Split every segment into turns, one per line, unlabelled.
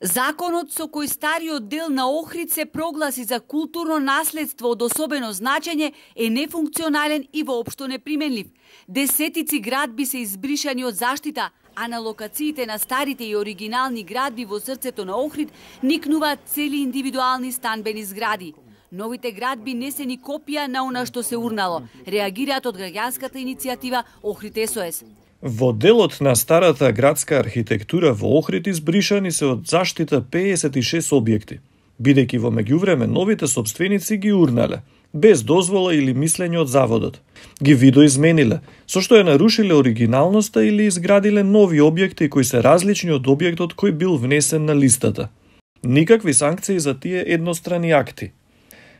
Законот со кој стариот дел на Охрид се прогласи за културно наследство од особено значење е нефункционален и воопшто неприменлив. Десетици градби се избришани од заштита, а на локациите на старите и оригинални градби во срцето на Охрид никнуваат цели индивидуални станбени згради. Новите градби не се ни копија на она што се урнало, реагираат од граѓанската иницијатива Охрид СОС.
Во делот на старата градска архитектура во Охрид избришани се од заштита 56 објекти, бидејќи во меѓувреме новите сопственици ги урнале, без дозвола или мислење од заводот. Ги видоизмениле, со што ја нарушиле оригиналноста или изградиле нови објекти кои се различни од објектот кој бил внесен на листата. Никакви санкции за тие еднострани акти.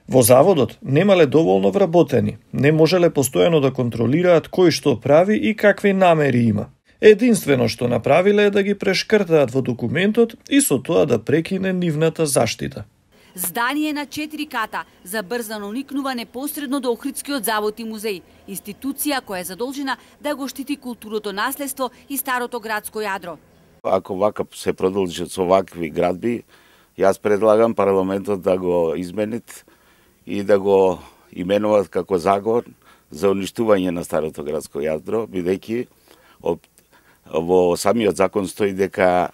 Во заводот немале доволно вработени, не можеле постојано да контролираат кој што прави и какви намери има. Единствено што направиле е да ги прешкртаат во документот и со тоа да прекине нивната заштита.
Здание на 4 ката, забрзано никнува непосредно до Охридскиот завод и музеј, институција која е задолжена да го штити културното наследство и старото градско јадро.
Ако вака се продолжат со вакви градби, јас предлагам парламентот да го изменит и да го именуваат како закон за уништување на старото градско јадро, бидејќи во самиот закон стои дека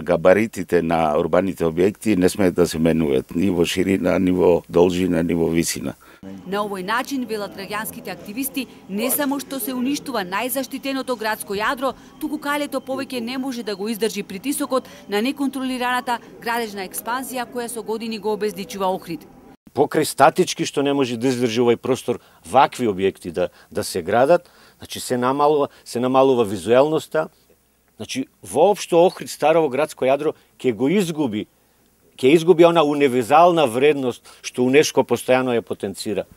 габаритите на урбаните објекти не смеат да се менуваат ни во ширина, ни во должина, ни во висина.
На овој начин, велат граѓанските активисти, не само што се уништува најзаштитеното градско јадро, туку калето повеќе не може да го издржи притисокот на неконтролираната градежна експанзија која со години го обездичува Охрид.
Покрај статички што не може да издржи овој простор вакви објекти да се градат, значи се намалува визуелноста, значи воопшто Охрид старово градско јадро ќе изгуби она универзална вредност што УНЕСКО постојано ја потенцира.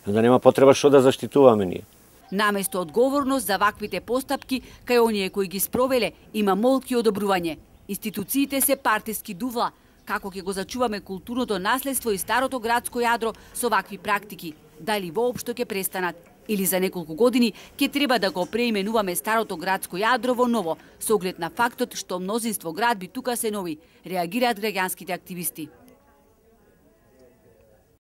Да нема потреба што да заштитуваме ние.
Наместо одговорност за ваквите постапки, кај оние кои ги спровеле, има молки одобрување. Институциите се партиски дувла. Како ќе го зачуваме културното наследство и старото градско јадро со вакви практики? Дали воопшто ќе престанат? Или за неколку години ќе треба да го преименуваме старото градско јадро во ново, со оглед на фактот што мнозинство градби тука се нови, реагираат граѓанските активисти.